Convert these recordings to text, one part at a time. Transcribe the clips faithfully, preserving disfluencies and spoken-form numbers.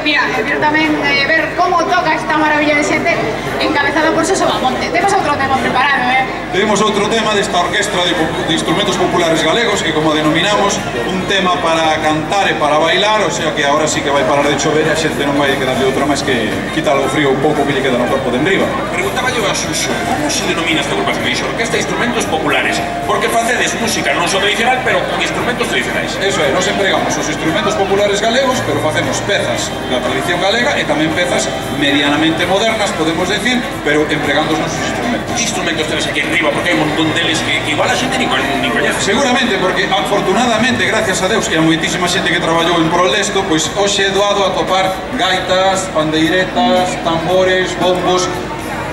mira, quero tamén eh, ver como toca esta maravilla de xente encabezada por Xoso Bamonte. Temos outro tema preparado, eh? Temos outro tema desta orquestra de, de instrumentos populares galegos que, como denominamos, un tema para cantar e para bailar, o sea que agora sí que vai parar de chover e a xente non vai quedarle outra máis que quitar o frío un pouco que lle queda no corpo de enriba. Preguntaba yo a Xuxo, como se denomina esta agrupación? Me dixo, orquesta de instrumentos populares, porque facedes música non só tradicional, pero con instrumentos tradicionais. Eso é, nos empregamos os instrumentos populares galegos, pero facemos pezas da tradición galega e tamén pezas medianamente modernas, podemos decir, pero empregando os nosos instrumentos. Que instrumentos tenes aquí arriba? Porque hai un montón deles que, que igual a xente ni, ni coñece. Seguramente, porque afortunadamente, gracias a Deus, que a moitísima xente que traballou en prol desto, pois hoxe é doado a topar gaitas, pandeiretas, tambores, bombos,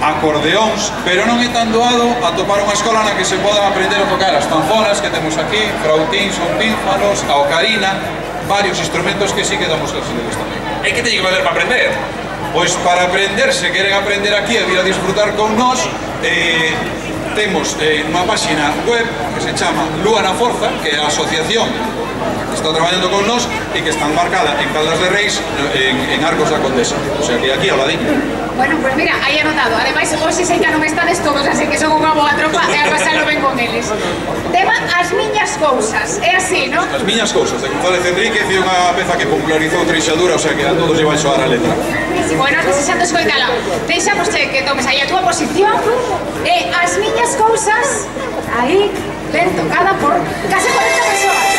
acordeóns, pero non é tan doado a topar unha escola na que se podan aprender a tocar as tanfonas que temos aquí, frautíns ou pínfanos, a ocarina, varios instrumentos que sí que damos clase deles tamén. E que teñe que valer para aprender? Pois para aprender, se queren aprender aquí e vir a disfrutar con nós, eh, temos eh, unha páxina web que se chama Lúa na Forza, que é a asociación que está traballando con nós e que está embarcada en Caldas de Reis, en, en Arcos da Condesa, o sea que aquí ao ladinho. Bueno, pues mira, aí anotado. Ademais, hoxe sei que non estades todos, así que son unha boa tropa e a pasalo ben con eles. Tema As Miñas Cousas, é así, non? As Miñas Cousas, de González Enríquez, e unha peza que popularizou Treixadura, o sea que a todos lle vai soar a letra. Bueno, desexando escoitala. Deixamos que tomes aí a túa posición e As Miñas Cousas, aí, ben tocada por case cuarenta persoas.